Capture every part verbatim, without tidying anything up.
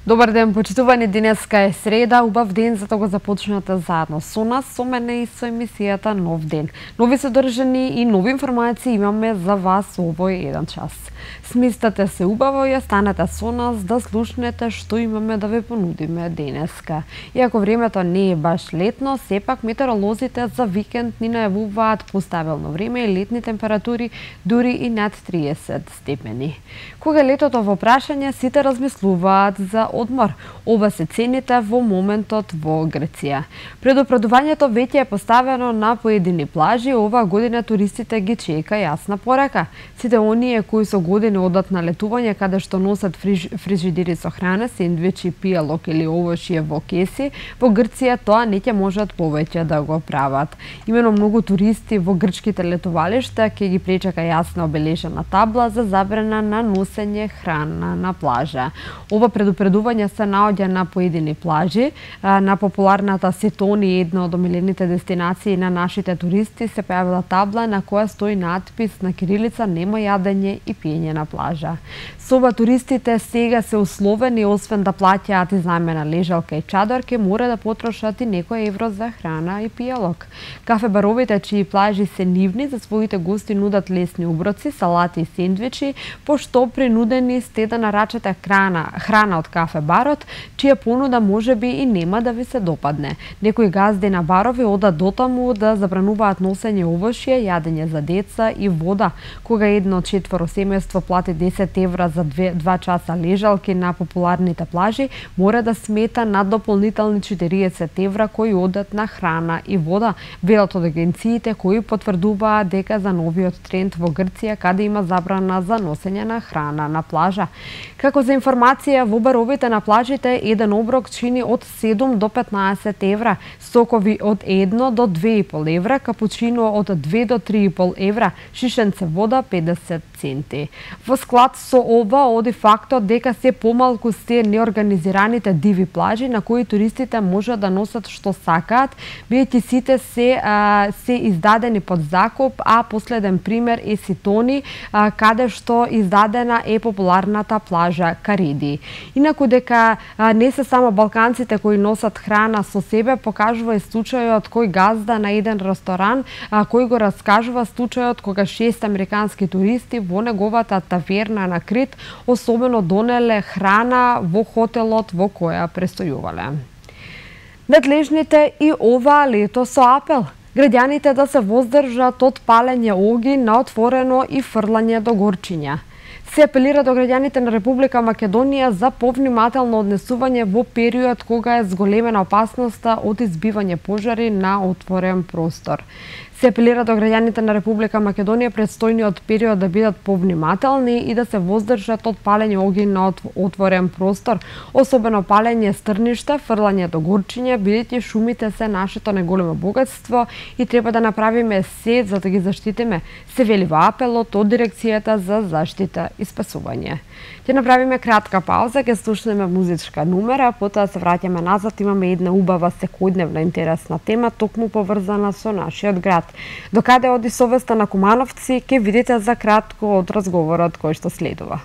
Добар ден, почитувани, денеска е среда, убав ден за да го започнете заедно со нас, со мене и со емисијата Нов ден. Нови содржини и нови информации имаме за вас овој еден час. Сместете се убаво и останете со нас да слушнете што имаме да ви понудиме денеска. Иако времето не е баш летно, сепак метеоролозите за викенд ни најавуваат постабилно време и летни температури дури и над триесет степени. Кога летото во прашање, сите размислуваат за одмор. Ова се цените во моментот во Грција. Предупредувањето веќе е поставено на поедини плажи, оваа година туристите ги чека јасна порака. Сите оние кои со години одат на летување каде што носат фриж, фрижидери со храна, сендвичи, пијалок или овошје во кеси, во Грција тоа не ќе можат повеќе да го прават. Имено многу туристи во грчките летувалишта ќе ги пречека јасна обележена табла за забрана на носење храна на плажа. Ова предупредување се наоѓа на поедини плажи. На популарната Сетони, една од омилените дестинации на нашите туристи, се појавила табла на која стои надпис на кирилица "Нема јадење и пиење на плажа". Со ова туристите сега се условени, освен да плаќаат изнајмена лежалка и чадор, ке мора да потрошат и некој евро за храна и пијалок. Кафе-баровите чии плажи се нивни за своите гости нудат лесни оброци, салати и сендвичи, пошто принудени сте да нарачате храна, храна од кафе-барот, чија понуда можеби и нема да ви се допадне. Некои газди на барови одат дотаму да забрануваат носење овошје, јадење за деца и вода. Кога едно четворо семејство плати десет евра за два часа лежалки на популарните плажи, мора да смета на дополнителни четириесет евра кои одат на храна и вода, велат од агенциите кои потврдуваат дека за новиот тренд во Грција каде има забрана за носење на храна на плажа. Како за информација, во баровите на плажите еден оброк чини од седум до петнаесет евра, сокови од едно до две и пол евра, капучино од две до три и пол евра, шишенце вода педесет центи. Во склад со ова оди фактот дека се помалку се неорганизираните диви плажи на кои туристите можат да носат што сакаат, бидејќи сите се а, се издадени под закуп, а последен пример е Сетони, а, каде што издадена е популарната плажа Кариди. Инаку дека а, не се само балканците кои носат храна со себе, покажува и случајот кој газда на еден ресторан, а, кој го раскажува случајот кога шест американски туристи во неговата таверна на Крит особено донеле храна во хотелот во која престојувале. Надлежните и ова лето со апел. Граѓаните да се воздржат од палење оги на отворено и фрлање до горчиња. Се апелира до граѓаните на Република Македонија за повнимателно однесување во период кога е зголемена опасноста од избивање пожари на отворен простор. Се апелира до граѓаните на Република Македонија предстојниот период да бидат повнимателни и да се воздржат од палење оги на отворен простор, особено палење стрништа, фрлање до горчиња, бидејќи шумите се нашето најголемо богатство и треба да направиме се за да ги заштитиме, се вели во апелот од Дирекцијата за заштита и спасување. Ќе направиме кратка пауза, ќе слушнеме музичка numera, потоа се враќаме назад, имаме една убава секојдневна интересна тема, токму поврзана со нашиот град. Докаде оди совеста на кумановци, ќе видите за кратко од разговорот кој што следува.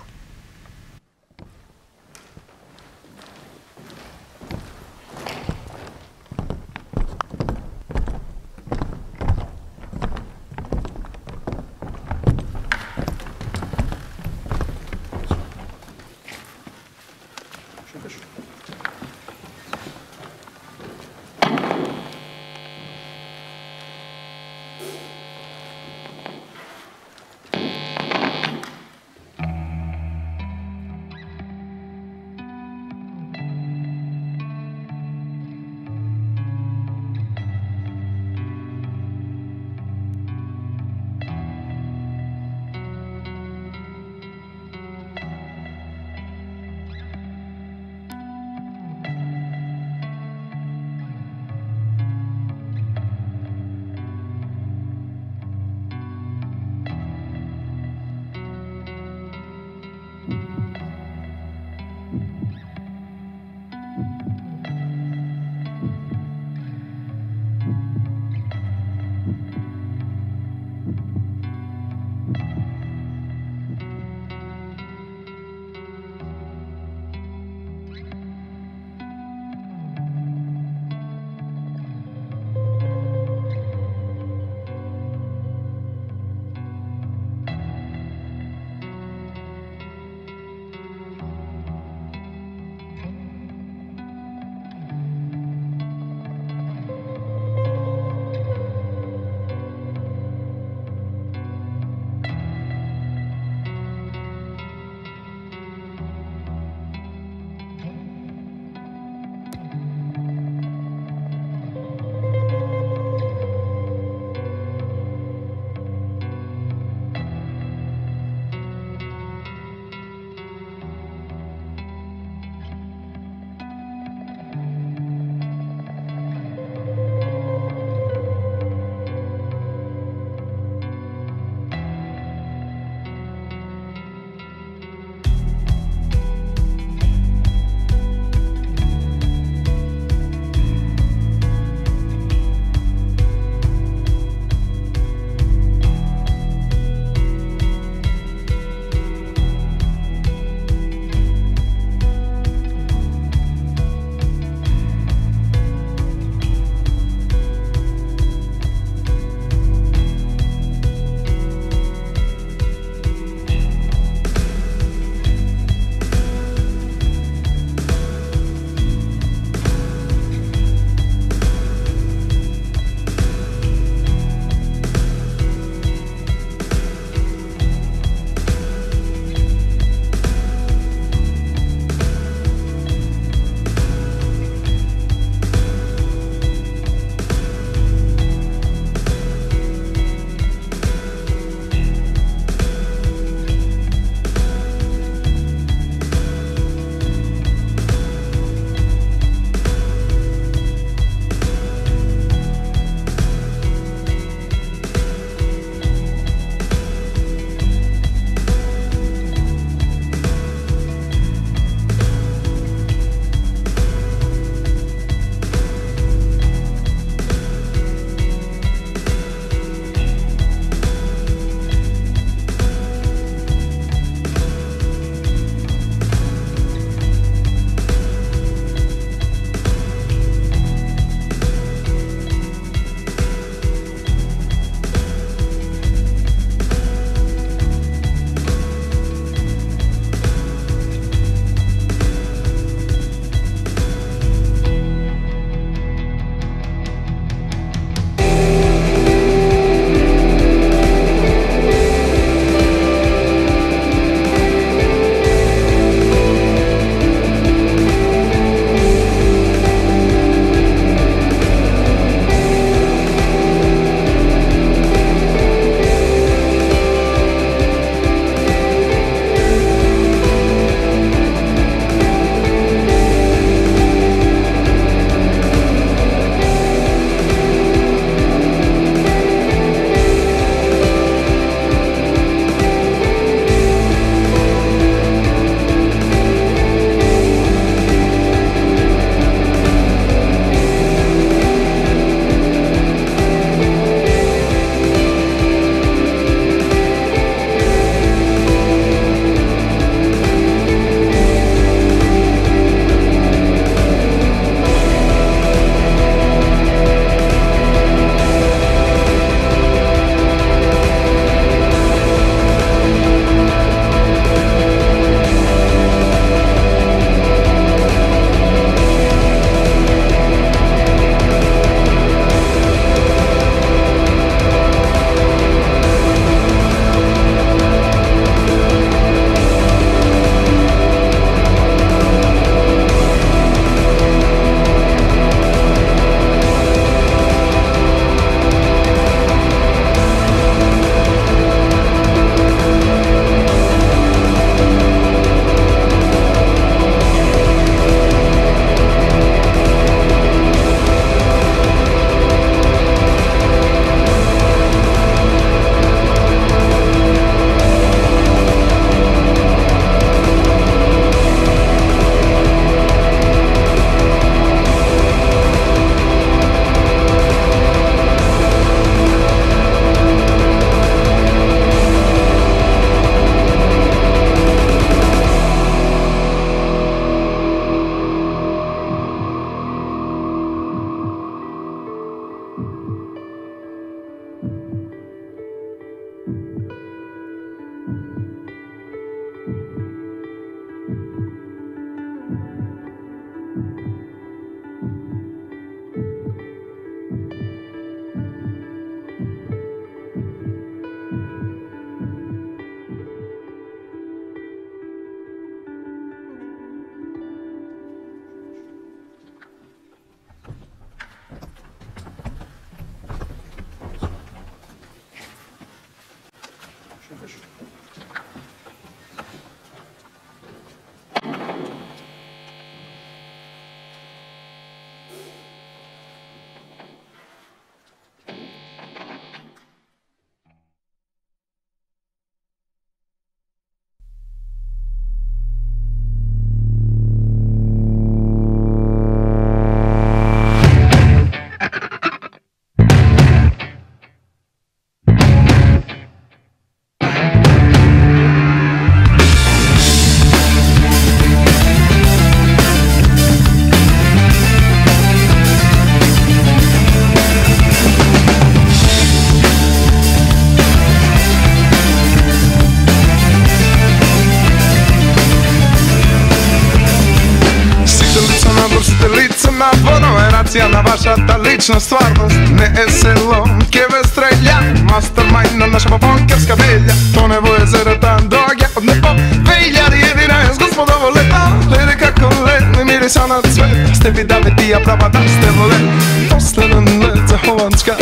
На вашата лична стварност не е село, ке ве стреља мастермајнд на наша покерска велја. То не во езерата доаѓа од небо две илјади и единаесет господово лето. Леде како лед, не мириса на цвет. Сте ви даве тија права да сте волен. Последен лед за Холандска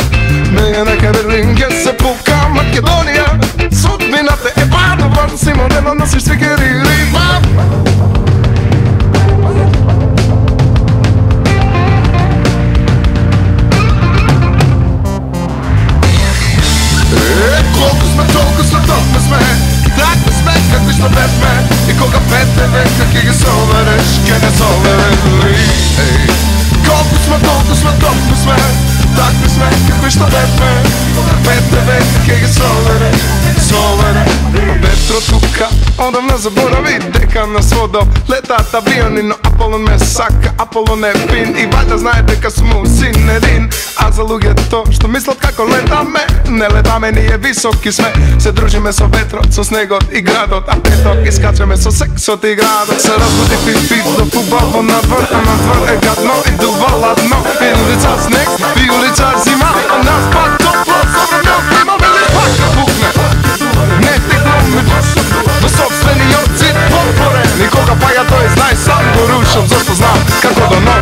меја нека Берлин ке се пука Македонија. Судбината е падна врн си модела носиш свикери рима. Колку сме, толку сме, толку сме. Такви сме, какви сме бевме. И кога пете века ке ги совереш, ке не соверели. Колку сме, толку сме, толку сме. Такви сме, какви сме бевме. Кога пете века ке ги совереш, совереш. Петро тука, одавна заборави дека на сводо летаат авиони, но Аполон ме сака, Аполон е фин. И вајда знае дека сум син един. А за луѓето што мислат како летаме, не летаме, ние високи сме. Се дружиме со ветрот, со снегот и градот, а петок искачаме со сексот и градот. Се разбуди пит-пит до фудбал во надвор, а надвор е гадно и дува ладно. И улица снег, и улица зима, а нас пак топло, со време имаме ли пак да пукне. Не тегломе во собствениот цит подпорен. И кога паѓа тој знај сам го рушам, зашто знам како да но.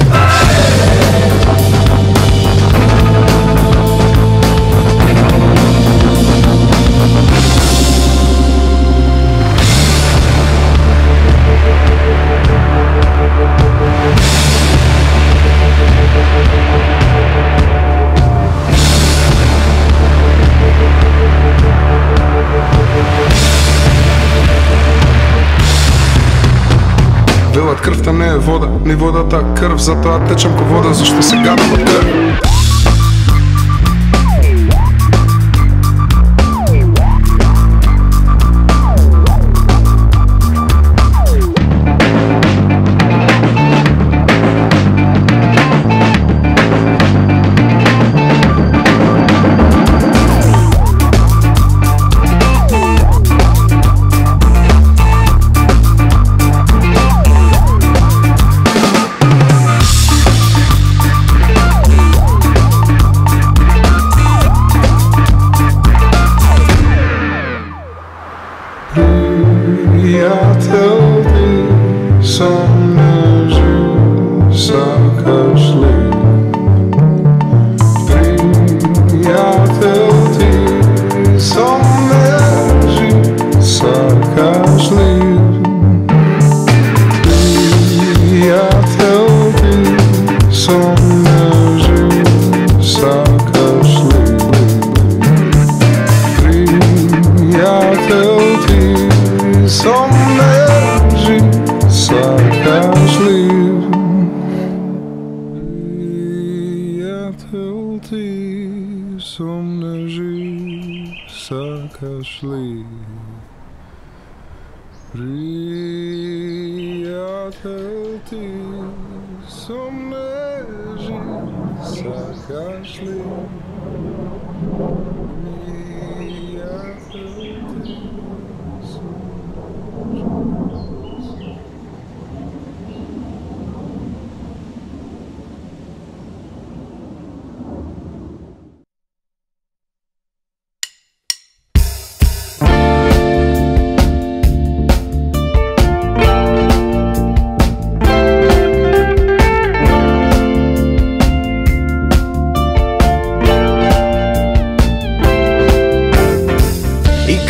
Велат крвта не е вода, ни водата крв, затоа течам ко вода, зашто се гадам од крв.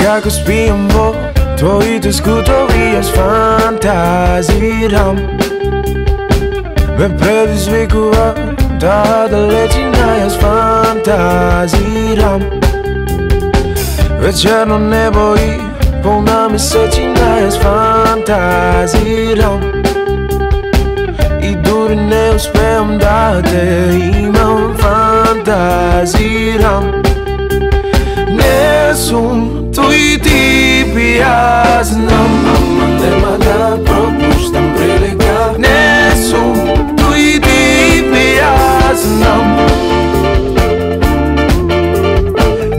Како спијам во твоите скутови, јас фантазирам. Ме предизвикува таа далечина, јас фантазирам. Вечерно небо и полна месечина, јас фантазирам. И дури не успеам да те имам, фантазирам. Не сум тој тип и јас знам, ама нема да пропуштам прилика. Не сум тој тип и јас знам.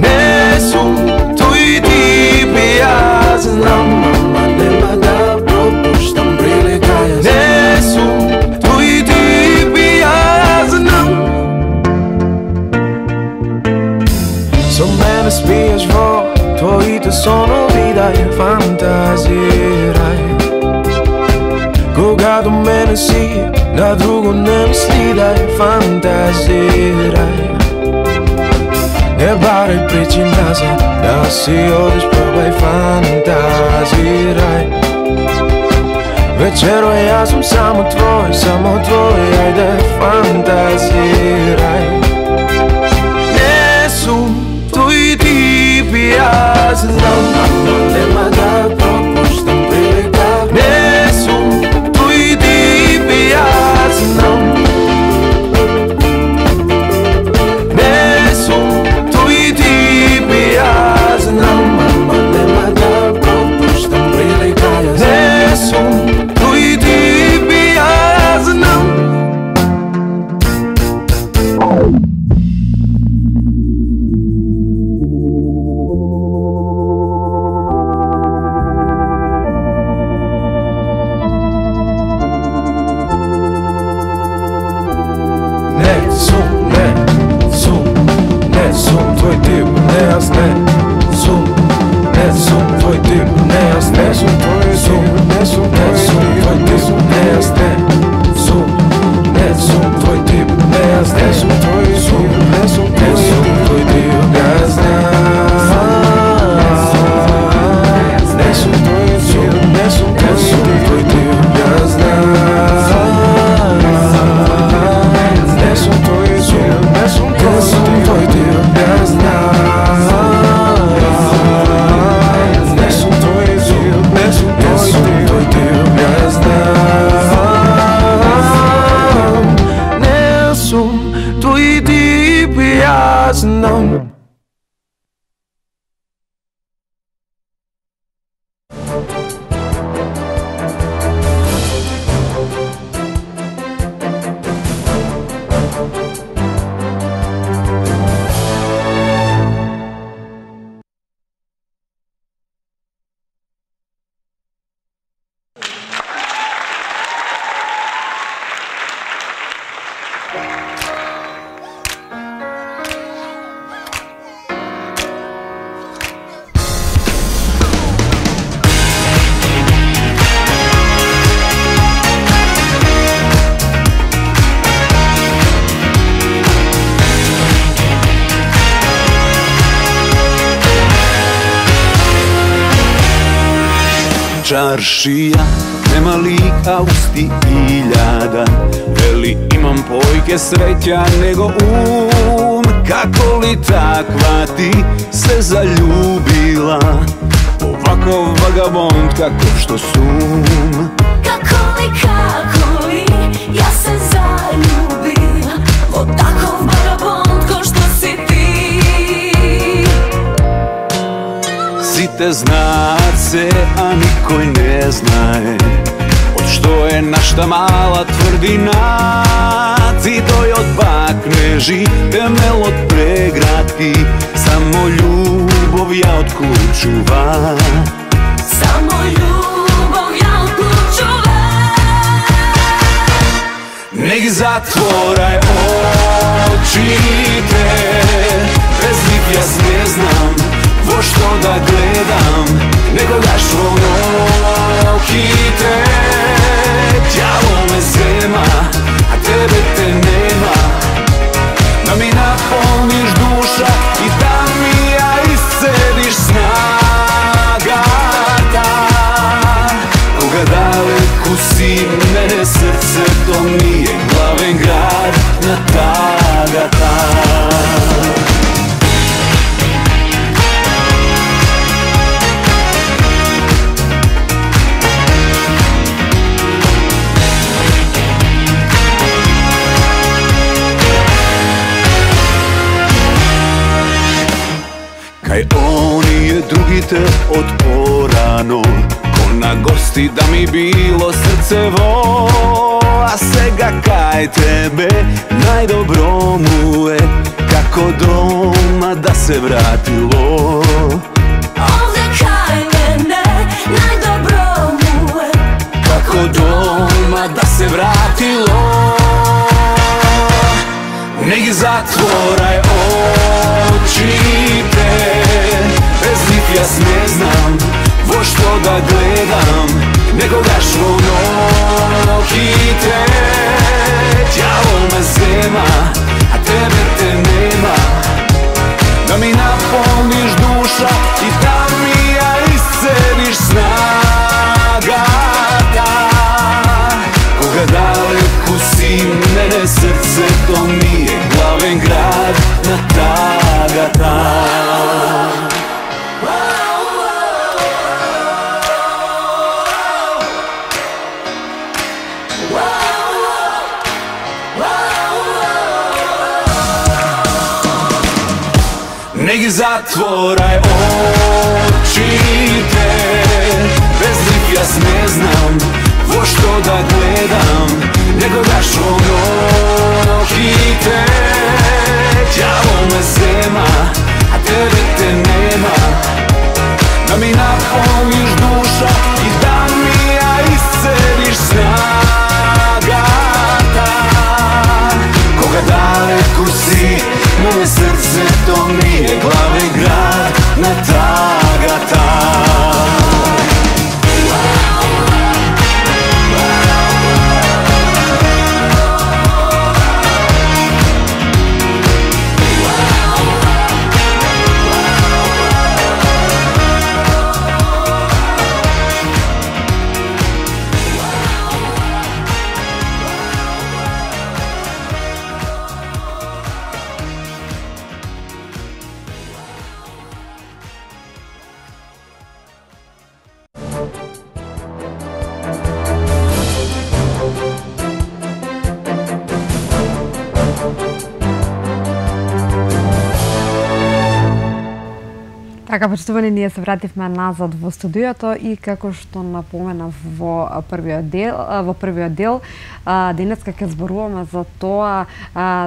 Не сум тој тип и јас знам, ама нема да пропуштам прилика. Не сум тој тип и јас знам. Со мене спиеш во твоите сонови, да ја фантазирај. Кога до мене си, на друго не мисли, да ја фантазирај. Не барај причина за да си одиш, пробај фантазирај. Вечерва јас сум само твој, само твој, ајде фантазирај. Не сум тој тип и јас знам, ама нема да пропуштам прилика. Не сум тој тип и јас знам. Не сум тој тип и јас знам, ама нема да пропуштам прилика. Не сум тој тип и јас знам. Čaršija, nema lika usti iljada. Veli imam pojke sreća nego um. Kako li takva ti se zaljubila? Ovako vagabond kako što sum. Kako li, kako li, ja se zaljubila. O takov vagabond ko što si ti. Site znace, a nikoj ne znaje od što je našta mala tvrdina. Ti doj od bakneži, temel od pregradki, samo ljubov ja odključuva. Samo ljubov ja odključuva. Nek zatvoraj oči te, bez njih ja ne znam vo što da gledam, nego daš oki te. Djavo me zema, a tebe te nema, da mi napolniš duša i da mi ja iscediš sna. другите од порано. Ко на гости да ми било срцево, а сега кај тебе најдобро му е, како дома да се вратило. Овде кај мене најдобро му е, како дома да се вратило. Не ги затворај очите, без нив јас не знам во што да гледам. Некогаш во ноќите ѓавол ме зема, а тебе те нема. Да ми наполниш душа и да ми ја исцелиш снагата. Кога далеку си мене срцето ми е главен град на тагата. Не ги затворај очите, без нив јас не знам во што да гледам. Некогаш во ноќите ѓавол ме зема, а тебе те нема. Да ми наполниш душа и да ми ја исцелиш снагата. Кога далеку си, моје срцето ми е главен град на тагата. Така, почитувани, ние се вративме назад во студиото и како што напоменав во првиот дел, во првиот дел, денеска ќе зборуваме за тоа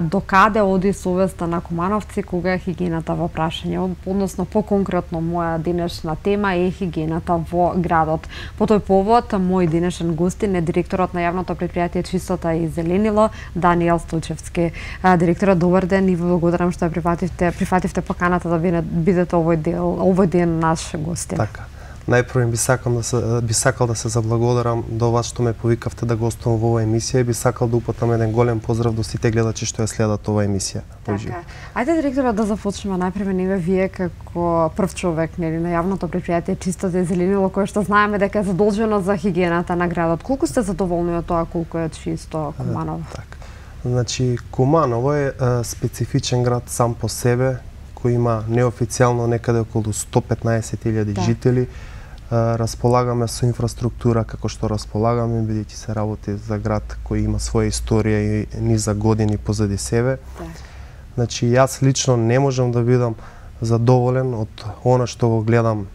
докаде оди совеста на кумановци кога е хигиената во прашање, односно поконкретно моја денешна тема е хигиената во градот. По тој повод мој денешен гостин е директорот на јавното претпријатие Чистота и зеленило Даниел Стојчевски. Директорот, добар ден и ви благодарам што ја прифативте, прифативте поканата да бидете овој дел овој ден наш гостин. Така. Најпрво би сакал да се би сакал да се заблагодарам до вас што ме повикавте да гостувам во оваа емисија и би сакал да упатам еден голем поздрав до сите гледачи што ја следат оваа емисија. Така. Ајде, директорот, да започнеме најпрво ниве вие како прв човек, нели, на јавното претпријатие Чистота и зеленило, кое што знаеме дека е задолжено за хигиената на градот. Колку сте задоволни од тоа колку е чисто Куманово? Така. Значи, Куманово е, е специфичен град сам по себе, кој има неофицијално некаде околу сто петнаесет илјади да. жители. Располагаме со инфраструктура како што располагаме, бидејќи се работи за град кој има своја историја и низа години позади себе. Да. Значи, јас лично не можам да бидам задоволен од она што го гледам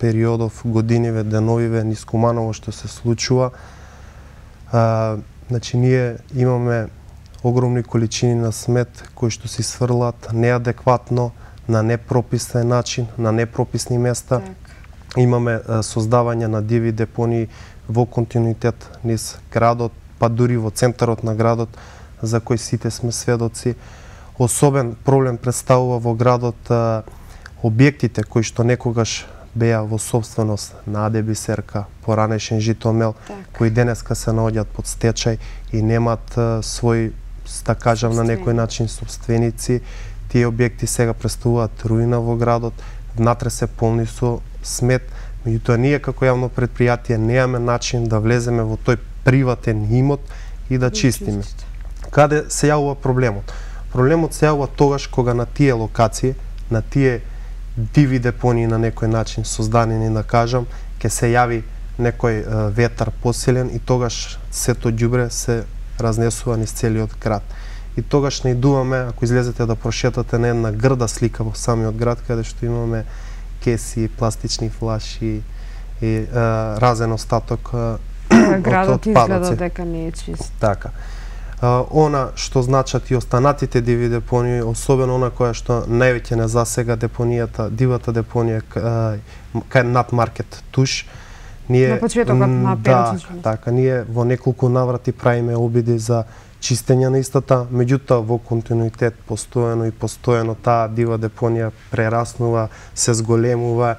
периодов, годиниве, деновиве низ Куманово што се случува. А, значи, ние имаме огромни количини на смет кои што се сврлат неадекватно, на непрописен начин, на непрописни места. Так. Имаме а, создавање на диви депонии во континуитет низ градот, па дури во центарот на градот, за кој сите сме сведоци. Особен проблем представува во градот а, објектите кои што некогаш беа во собственост на АД Бисерка, поранешен Житомел, так. кои денеска се наоѓаат под стечај и немаат а, свој, да кажам, на некој начин собственици. Тие објекти сега представуваат руина во градот, внатре се полни со смет, меѓутоа ние како јавно предпријатие немаме начин да влеземе во тој приватен имот и да чистиме. Каде се јавува проблемот? Проблемот се јавува тогаш кога на тие локации, на тие диви депонии на некој начин создадени, да кажам, ќе се јави некој е, ветар посилен и тогаш сето ѓубре се разнесува низ целиот град. И тогаш наидуваме, ако излезете да прошетате на една грда слика во самиот град, каде што имаме кеси, пластични флаши и а, разен остаток а, Градот од изгледа отпадоци. дека не е чист. Така. А, она што значат и останатите диви депонии, особено она која што највеќе не засега депонијата, дивата депонија а, кај над маркет Туш. Ние На почетокот на да, Перочичко. така, ние во неколку наврати правиме обиди за чистење на истата, меѓутоа во континуитет постојано и постојано таа дива депонија прераснува, се зголемува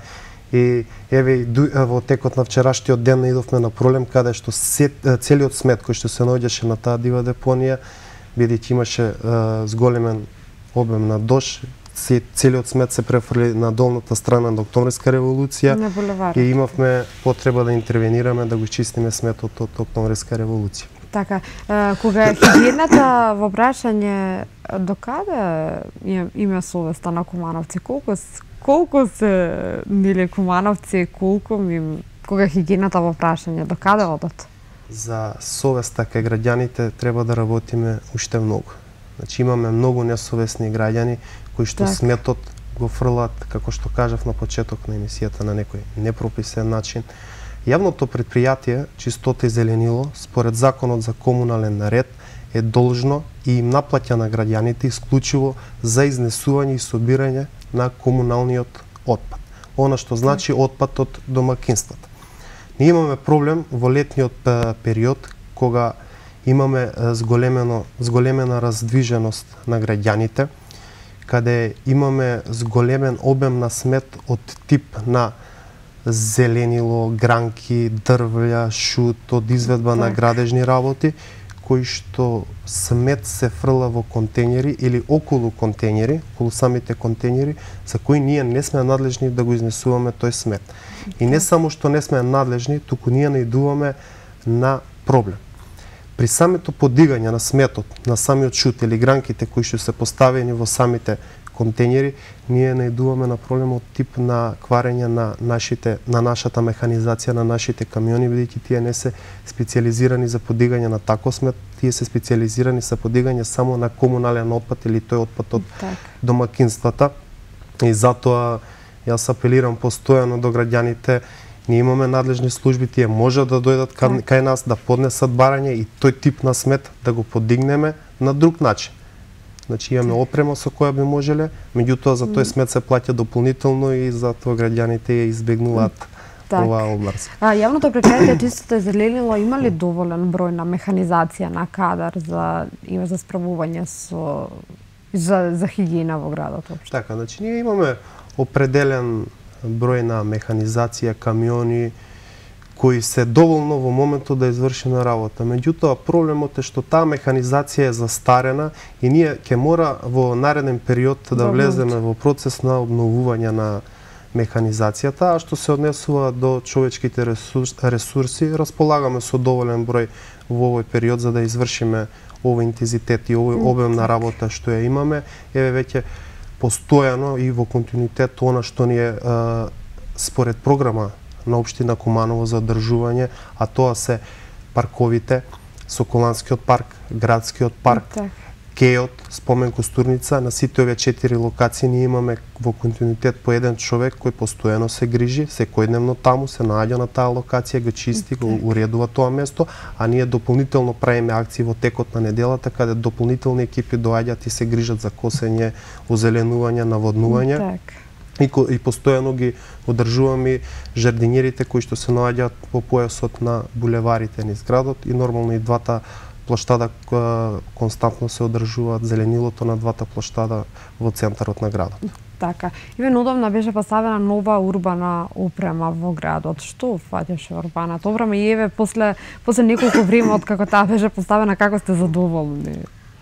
и еве и во текот на вчерашниот ден наидовме на проблем каде што се, целиот смет кој што се наоѓаше на таа дива депонија, бидејќи имаше е, зголемен обем на дош, се, целиот смет се префрли на долната страна на Октомврска револуција На булеварот. и имавме потреба да интервенираме да го чистиме сметот од Октомврска револуција. Така, е, кога е хигиената во прашање до каде им- има совеста на кумановци? Колку с- колку се нели кумановци, колку им кога хигиената во прашање до каде одат? За совеста кај граѓаните треба да работиме уште многу. Значи имаме многу несовесни граѓани кои што Така. сметот го фрлат, како што кажав на почеток на емисијата, на некој непрописен начин. Јавното предпријатие Чистота и зеленило, според Законот за комунален ред, е должно и им наплаќа на граѓаните исклучиво за изнесување и собирање на комуналниот отпад. Она што значи отпад од домакинствата. Ние имаме проблем во летниот е, период кога имаме е, зголемено зголемена раздвиженост на граѓаните, каде имаме зголемен обем на смет од тип на зеленило, гранки, дрвја, шут, од изведба на Так. градежни работи, кои што смет се фрла во контејнери или околу контејнери, околу самите контејнери, за кои ние не сме надлежни да го изнесуваме тој смет. И не само што не сме надлежни, туку ние наидуваме на проблем. При самото подигање на сметот, на самиот шут или гранките кои што се поставени во самите контејнери, ние наидуваме на проблем од тип на кварење на нашите на нашата механизација на нашите камиони, бидејќи тие не се специјализирани за подигање на таков смет, тие се специјализирани за подигање само на комунален отпад или тој отпад од Так. домакинствата. И затоа јас апелирам постојано до граѓаните. Ние имаме надлежни служби, тие може да дојдат кај, кај нас да поднесат барање и тој тип на смет да го подигнеме на друг начин. Значи имаме опрема со која би можеле, меѓутоа за тој смет се плаќа дополнително и затоа граѓаните ја избегнуваат Так. оваа област. А јавното предпријатие Чистота и зеленило има ли доволен број на механизација на кадар за има за справување со за за хигиена во градот општо? Така, значи ние имаме определен број на механизација, камиони кои се доволно во моментот да извршиме работа. Меѓутоа проблемот е што таа механизација е застарена и ние ќе мора во нареден период да Да влеземе во процес на обновување на механизацијата, а што се однесува до човечките ресурси, ресурси располагаме со доволен број во овој период за да извршиме овој интензитет и овој обем на работа што ја имаме. Еве веќе постојано и во континуитет она што ни е а, според програма на општина Куманово за одржување, а тоа се парковите, Соколанскиот парк, Градскиот парк, Так. Кејот, Спомен Костурница, на сите овие четири локации ние имаме во континуитет по еден човек кој постојано се грижи, секојдневно таму се наоѓа на таа локација, го чисти, го уредува тоа место, а ние дополнително правиме акции во текот на неделата каде дополнителни екипи доаѓаат и се грижат за косење, озеленување, наводнување. Так. И, ко- и постојано ги одржуваме жардинерите кои што се наоѓаат по појасот на булеварите низ градот и нормално и двата плоштада која константно се одржуваат, зеленилото на двата плоштада во центарот на градот. Така. Ивен одамна беше поставена нова урбана опрема во градот. Што фаќаше урбаната опрема и еве после после неколку време од како таа беше поставена, како сте задоволни?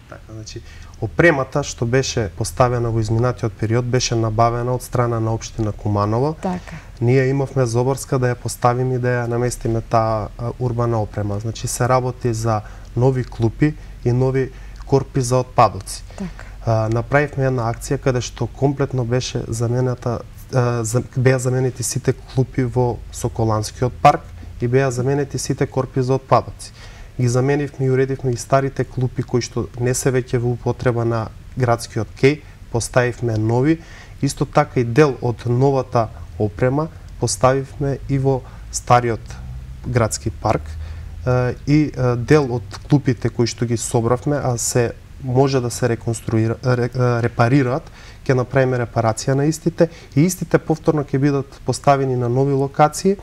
Така, значи, опремата што беше поставена во изминатиот период беше набавена од страна на општина Куманово. Така. Ние имавме Зоборска да ја поставиме и да ја наместиме таа а, урбана опрема. Значи се работи за нови клупи и нови корпи за отпадоци. Така. А, направивме една акција каде што комплетно беше заменета а, за, беа заменети сите клупи во Соколанскиот парк и беа заменети сите корпи за отпадоци. Ги заменивме и уредивме и старите клупи кои што не се веќе во употреба на градскиот кеј, поставивме нови. Исто така и дел од новата опрема, поставивме и во стариот градски парк и дел од клупите кои што ги собравме, а се може да се реконструира, репарираат, ќе направиме репарација на истите и истите повторно ќе бидат поставени на нови локации.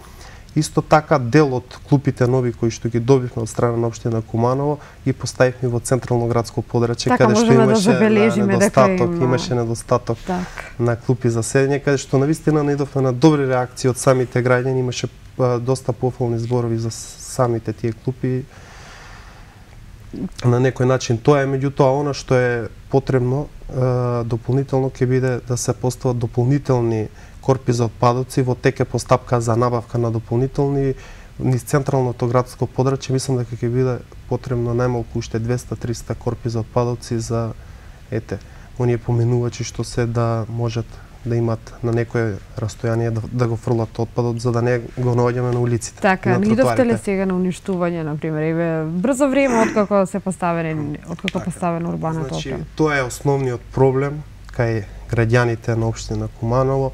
Исто така дел од клупите нови кои што ги добивме од страна на општина Куманово и поставивме во централно градско подрачје, така, каде што имаше да недостаток, има... имаше недостаток так. на клупи за седење, каде што навистина наидовме на добри реакции од самите граѓани, имаше доста пофални зборови за самите тие клупи. На некој начин тоа е, меѓутоа она што е потребно дополнително ќе биде да се постават дополнителни корпи за отпадоци во тек е постапка за набавка на дополнителни низ централното градско подрачје. Мислам дека ќе биде потребно најмалку уште двеста до триста корпи за отпадоци за ете оние поменувачи што се да можат да имат на некое растојание да, да го фрлат отпадот за да не го наоѓаме на улиците. Така, на идовте ли сега на уништување, на пример, еве брзо време откако се поставени, откако така, поставено урбаната значи, опрема? Тоа е основниот проблем кај граѓаните на општина Куманово,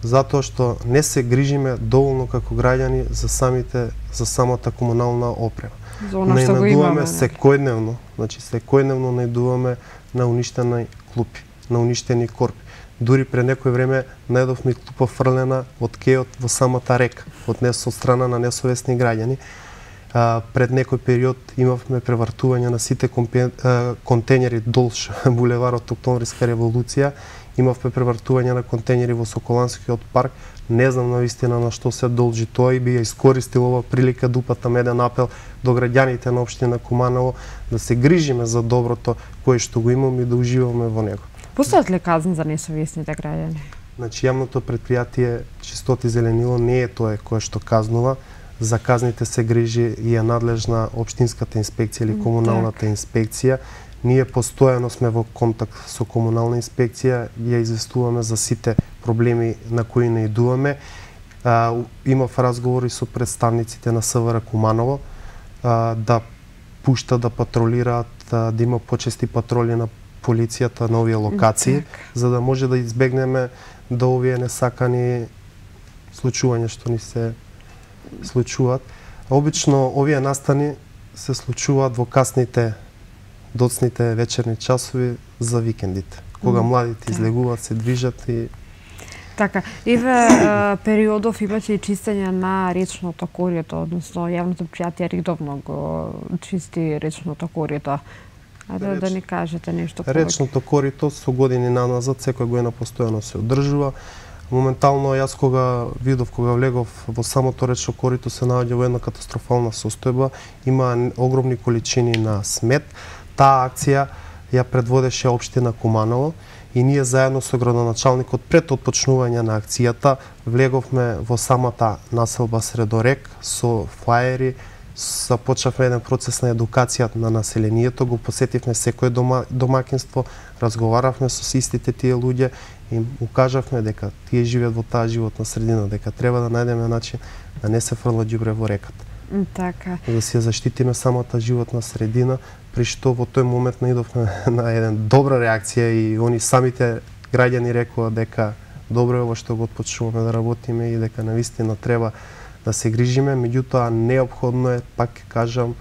затоа што не се грижиме доволно како граѓани за самите за самата комунална опрема. За она што го имаме секојдневно, значи секојдневно наидуваме на уништени клупи, на уништени корпи. Дури пред некој време најдовме клупа фрлена од кејот во самата река, од нес од страна на несовесни граѓани. А, пред некој период имавме превртување на сите компе, а, контейнери долж булеварот Октомвриска револуција, имавме превртување на контейнери во Соколанскиот парк. Не знам навистина на што се должи тоа и би ја искористил ова прилика да упатам еден апел до граѓаните на општина Куманово да се грижиме за доброто кое што го имаме и да уживаме во него. Постојат ли казни за несовесните граѓани? Значи, јавното предпријатие Чистоти зеленило не е тоа кое што казнува. За казните се грижи и е надлежна општинската инспекција или комуналната так. инспекција. Ние постојано сме во контакт со комунална инспекција, ја известуваме за сите проблеми на кои наидуваме. А, имав разговори со представниците на СВР Куманово а, да пушта да патролираат, а, да има почести патроли на полицијата на овие локации, так. за да може да избегнеме да овие несакани случувања што ни се случуваат. Обично овие настани се случуваат во касните доцните вечерни часови за викендите, кога младите излегуваат, се движат и така, еве периодов имаше и чистење на речното корието, односно јавното предпријатие редовно го чисти речното корието. Ајде Реч... да ни кажете нешто повеќе. Речното корито со години наназад секоја година постојано се одржува. Моментално јас кога видов, кога влегов во самото речно корито се наоѓа во една катастрофална состојба, има огромни количини на смет. Таа акција ја предводеше општина Куманово и ние заедно со градоначалникот пред отпочнување на акцијата влеговме во самата населба Средорек со флаери, започнавме еден процес на едукација на населението, го посетивме секое дома, домакинство, разговаравме со истите тие луѓе и укажавме дека тие живеат во таа животна средина, дека треба да најдеме начин да не се фрла ѓубре во реката. Така. Да се заштитиме самата животна средина, при што во тој момент наидовме на еден добра реакција и они самите граѓани рекоа дека добро е ова што го отпочнуваме да работиме и дека навистина треба да се грижиме, меѓутоа неопходно е, пак кажам,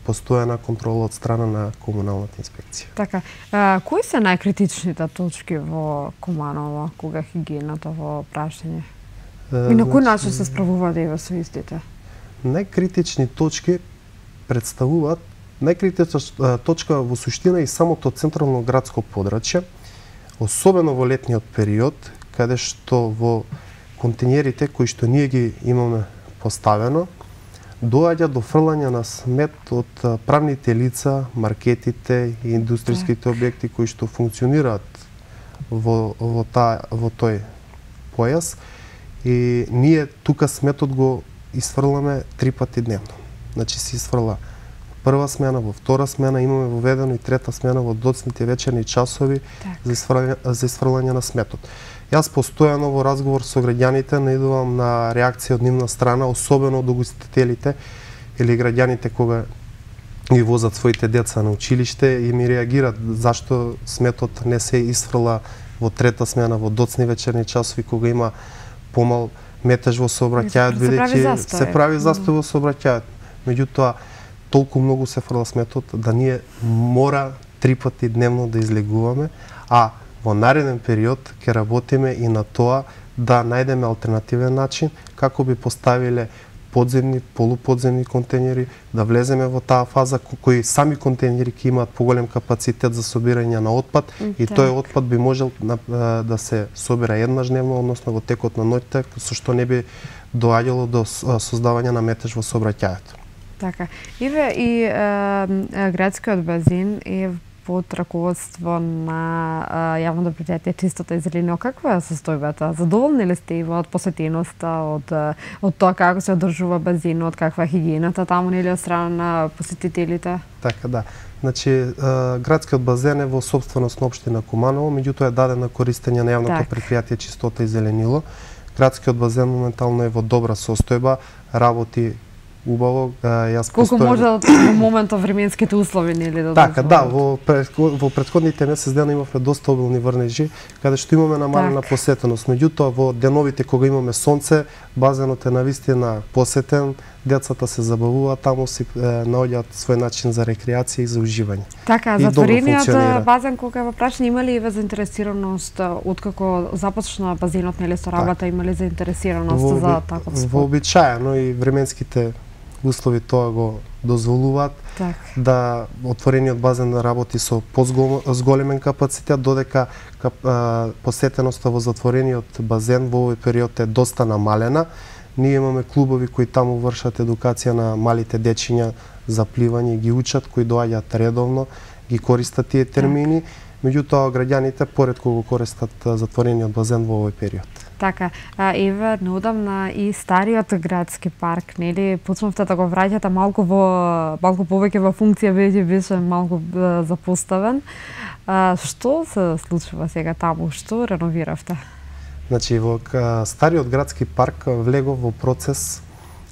постојана контрола од страна на комуналната инспекција. Така, а, кои се најкритичните точки во Куманово кога хигиената во прашање? И на кој начин се справуваат еве со истите? Најкритични точки представуваат најкритична точка во суштина и самото централно градско подрачје, особено во летниот период, каде што во контейнерите кои што ние ги имаме поставено, доаѓа до фрлање на смет од правните лица, маркетите и индустријските објекти кои што функционираат во, во, та, во тој појас. И ние тука сметот го изфрламе три пати дневно. Значи се изфрла прва смена, во втора смена, имаме воведено и трета смена во доцните вечерни часови так. за, изфрлање, за изфрлање на сметот. Јас постојано во разговор со граѓаните наидувам на реакција од нивна страна, особено од угостителите или граѓаните кога ги возат своите деца на училиште и ми реагираат зашто сметот не се изфрла во трета смена, во доцни вечерни часови, кога има помал метеж во сообраќајот, бидејќи се прави застој во сообраќајот. Меѓутоа, толку многу се фрла сметот да ние мора три пати дневно да излегуваме, а во нареден период ќе работиме и на тоа да најдеме алтернативен начин како би поставиле подземни, полуподземни контейнери, да влеземе во таа фаза кои сами контейнери ќе имаат поголем капацитет за собирање на отпад и Так. тој отпад би можел да се собира еднаш дневно, односно во текот на ноќта, со што не би доаѓало до создавање на метеж во сообраќајот. Така. Иве, и е, градскиот базин е под раководство на е, јавното предпријатие Чистота и зелениот. Каква е состојбата? Задоволни ли сте од посетеноста, од од тоа како се одржува базинот, каква е хигиената таму или од страна на посетителите? Така, да. Значи, е, градскиот базен е во собственост на општина Куманово, меѓутоа е даден на користење на јавното Так. предпријатие Чистота и зеленило. Градскиот базен моментално е во добра состојба, работи убаво. Јас Колку постојам... може во моментот временските услови нели да Така, да, дозволат? во, предход, во предходните месец дена имавме доста обилни врнежи, каде што имаме намалена Так. посетеност. Меѓутоа, во деновите кога имаме сонце, базенот е навистина посетен, децата се забавуваат таму, си е, наоѓаат свој начин за рекреација и за уживање. Така, И добро затворениот функционира. базен кога е во прашање, има ли заинтересираност откако започна базенот нели со работа, има ли заинтересираност Во, за таков спорт? вообичаено и временските услови тоа го дозволуваат Так. да отворениот базен работи со позголемен капацитет, додека кап, а, посетеноста во затворениот базен во овој период е доста намалена. Ние имаме клубови кои таму вршат едукација на малите дечиња за пливање, ги учат, кои доаѓаат редовно, ги користат тие термини, меѓутоа граѓаните поретко го користат затворениот базен во овој период. Така, а, еве неодамна и стариот градски парк, нели, почнавте да го враќате малку во малку повеќе во функција, веќе беше малку е, запоставен. А, што се случува сега таму? Што реновиравте? Значи, во ка- стариот градски парк влегов во процес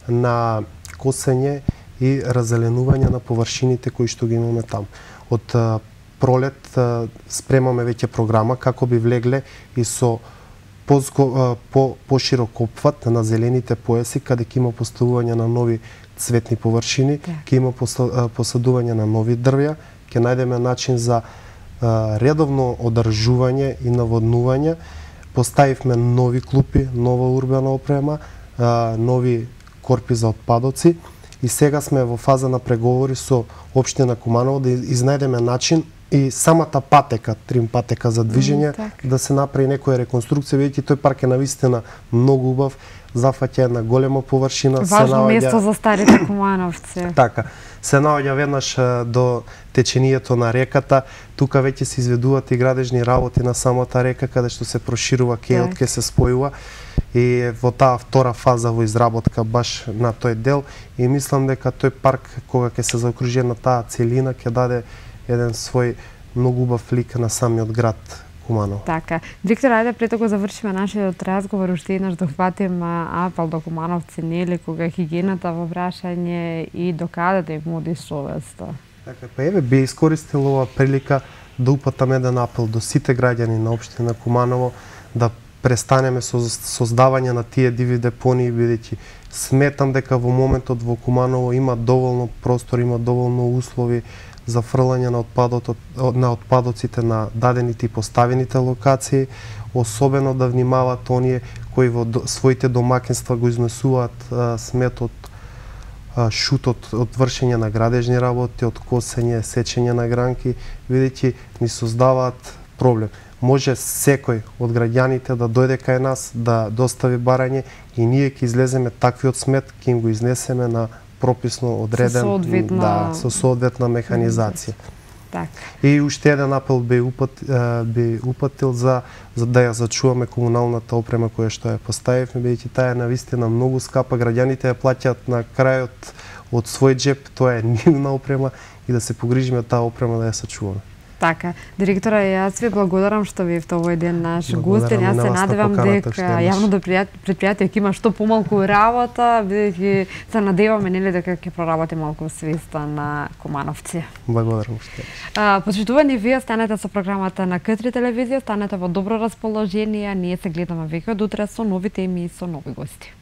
на косење и раззеленување на површините кои што ги имаме таму. Од а, пролет а, спремаме веќе програма како би влегле и со позго, по поширок опфат на зелените појаси, каде ќе има поставување на нови цветни површини, ќе има посадување на нови дрвја, ќе најдеме начин за а, редовно одржување и наводнување. Поставивме нови клупи, нова урбана опрема, а, нови корпи за отпадоци и сега сме во фаза на преговори со општина Куманово да изнајдеме начин и самата патека, трим патека за движење, Mm, так. да се направи некоја реконструкција, бидејќи тој парк е навистина многу убав, зафаќа една голема површина, се Важно наоѓа место за старите кумановци. така, се наоѓа веднаш а, до течението на реката, тука веќе се изведуваат и градежни работи на самата река, каде што се проширува кејот, Так. ке се спојува и во таа втора фаза во изработка баш на тој дел и мислам дека тој парк кога ќе се заокружи на таа целина ќе даде еден свој многу убав лик на самиот град Куманово. Така. Директор, ајде пред да завршиме нашиот разговор, уште еднаш да ухватим апел до кумановци, нели, кога е хигиената во прашање и до каде да им води совеста. Така, па еве би искористил ова прилика да упатам еден апел до сите граѓани на општина Куманово да престанеме со создавање на тие диви депонии, бидејќи сметам дека во моментот во Куманово има доволно простор, има доволно услови за фрлање на отпадот на отпадоците на дадените и поставените локации, особено да внимаваат оние кои во до, своите домакинства го изнесуваат а, сметот, а, шутот од вршење на градежни работи, од косење, сечење на гранки, бидејќи ни создаваат проблем. Може секој од граѓаните да дојде кај нас, да достави барање и ние ќе излеземе таквиот смет, ќе им го изнесеме на прописно одреден, соодветна- да, со соодветна механизација. Така. И уште еден апел би, упат, е, би упатил за, за да ја зачуваме комуналната опрема која што ја поставивме, бидејќи таа е навистина многу скапа, граѓаните ја плаќаат на крајот од свој џеп, тоа е нивна опрема и да се погрижиме таа опрема да ја сачуваме. Така, директора, јас ви благодарам што ви евте овој ден наш гостин. Јас се на вас на надевам поканата дека што имаш. јавното предпријатие ќе има што помалку работа, бидејќи се надеваме нели дека ќе проработи малку свеста на кумановци. Благодарам што. А, почитувани вие, станете со програмата на К три телевизија, станете во добро расположение, ние се гледаме веќе од утре со нови теми и со нови гости.